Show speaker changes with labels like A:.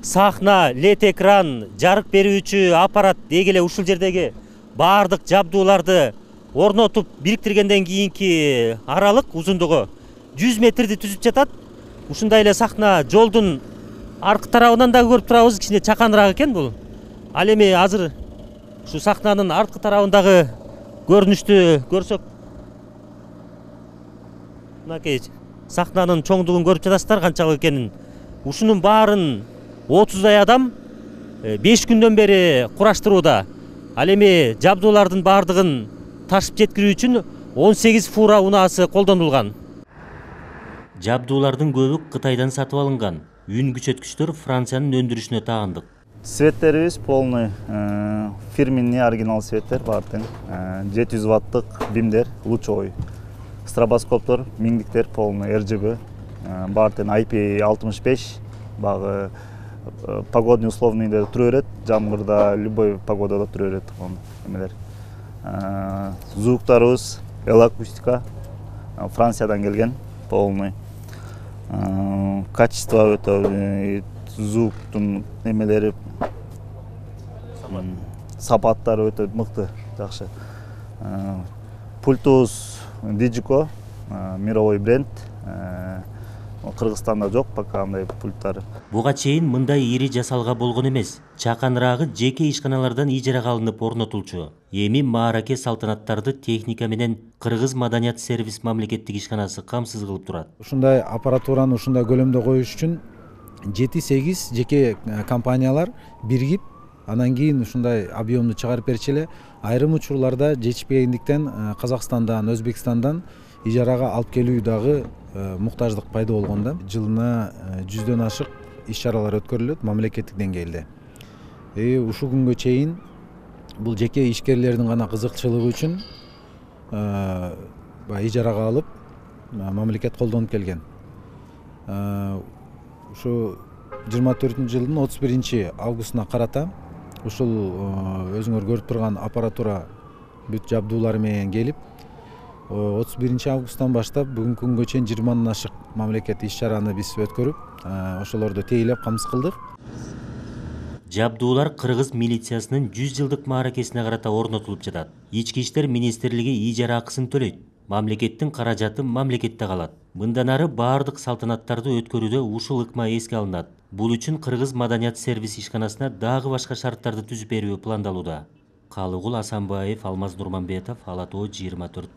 A: сахна, лед экран, жарык берүүчү аппарат деги эле ушул жердеги баардык жабдууларды орнотуп бириктиргенден кийинки аралык узундугу 100 метрди түзүп жатат. Ушундай эле сахна жолдун аркы тарабынан да көрүп турабыз, кичине чаканыраак экен бул. Ал эми азыр ушу сахнанын аркы тарабындагы көрүнүштү көрсөк, мынакей сахнанын чоңдугун көрүп жатасыздар канчалык экенин. Ушунун баарын 30дай адам 5 күндөн бери кураштырууда. Ал эми жабдуулардын баардыгын ташып жеткирүү үчүн 18 фура унаасы колдонулган. Жабдуулардын көбү Кытайдан сатып алынган. Үн күчөткүчтөр Франциянын өндүрүшүнө тагындык.
B: Светтерибиз полный фирменный оригинал светтер бар тең. 700 ваттык бимдер, лучевой. Стробоскоптор, миңдиктер полный RGB. Бар тең IP65 багы погодный условныйда туру берет, жамгырда любой погодада туру берет эмелер. Звуктарыбыз элакустика, Франциядан келген, полный. Качество өтө звуктун эмелери, сапаттары өтө мыкты, жакшы. Пультубуз Digico, мировой бренд. Кыргызстанда жок пока андай пульттары.
A: Буга чейин мындай ири жасалга болгон эмес. Чаканыраагы жеке ишканалардан ижарага алынып орнотулчу. Эми маараке салтанаттарды техника менен Кыргыз маданият сервис мамлекеттик ишканасы камсыз кылып турат.
C: Ушундай аппаратураны ушундай көлөмдө коюш үчүн 7-8 жеке компаниялар биригип, анан кийин ушундай объемду чыгарып берчү эле. Айрым учурларда жетишпегендиктен Казакстандан, Өзбекстандан ижарага алып келүү дагы муктаждык пайда болгон да. Жылына 100дөн ашык иш-чаралар өткөрүлөт мамлекеттик деңгээлде. Ушул күнгө чейин бул жеке ишкерлердин гана кызыкчылыгы үчүн ижарага алып мамлекет колдонуп келген. Ушу 24-жылдын 31-августуна карата ушул өзүңөр көрүп турган аппаратура бүт жабдуулары менен келип 31-августтан баштап бүгүнкү күнгө чейин 20 ашык мамлекет иш-чараны биз өткөрүп, ошолорду тейлеп камсыз кылдык.
A: Жабдуулар Кыргыз милициясынын 100 жылдык мааракесине карата орнотулуп жатат. Ички иштер министрлиги ижара акысын төлөйт. Мамлекеттин каражаты мамлекетте калат. Мындан ары баардык салтанаттарды өткөрүүдө ушул ыкма эске алынат. Бул үчүн Кыргыз маданият сервис ишканасына дагы башка шарттарды түзүп берүү пландалууда. Калыгул Асанбаев, Алмаз Нурманбетов, Ала Тоо 24.